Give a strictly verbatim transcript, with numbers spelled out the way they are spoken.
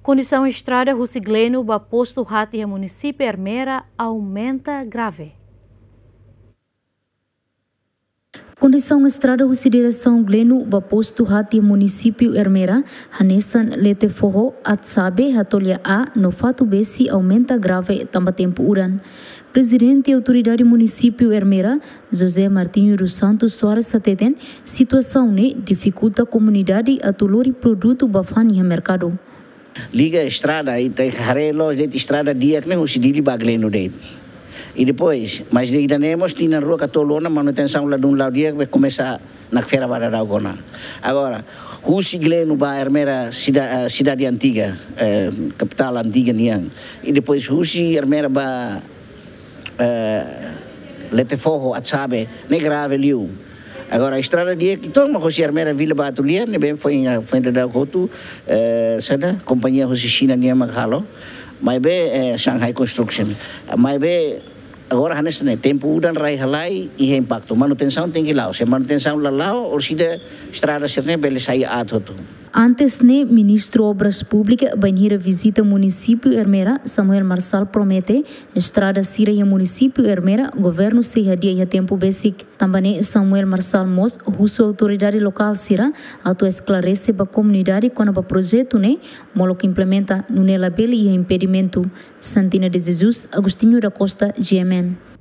Kondisaun estrada husi Gleno ba postu Hati iha munisípiu Ermera aumenta grave. Kondisaun estrada husi diresaun Gleno ba postu Hati iha munisípiu Ermera, hanesan lete foho, aat-sabe, hatolia aat no fatu besi aumenta grave tanba tempu udan. Prezidente Autoridade Munisípiu Ermera, José Martinho dos Santos Soares hateten, situasaun ne'e difikulta komunidade atu lori produtu ba fa'an iha merkadu. Liga estrada, ita haree loos de'it estrada di'ak ne'e husi Dili ba Gleno de'it. I depois, mas ida-ne'e mós tinan rua ka tolu ona manutensaun ladún la'o di'ak, be komesa nakfera ba daudaun ona. Agora, husi Gleno ba Ermera sida-, eh, sidade antiga, eh, kapitál antiga nian. I depois husi Ermera ba, eh, lete foho, aat-sabe, ne'e grave liu. Agora, estrada di'ak uitoan mak husi Ermera Vila ba Atulian, ne'ebé foin, foin daudaun hotu, eh, saida, kompañia husi Xina nian mak halo. Maibé, eh, Shanghai Construction. Maibé, agora hanesan ne'e, tempu udan rai halai, iha impaktu. Manutensaun tenke la'o. Se manutensaun la la'o, orsida estrada sira-ne'e bele sai aat hotu. Antes ne'e, Ministru Obras Públikas bainhira vizita munisípiu Ermera, Samuel Marçal promete, estrada sira iha munisípiu Ermera, governu sei hadi'a iha tempu besik. Tanba ne'e, Samuel Marçal mós husu autoridade lokál sira atu esklarese ba komunidade kona-ba projetu ne'e, molok implementa, nune'e labele iha impedimentu. Santina de Jesus, Agostinho da Costa, G M N.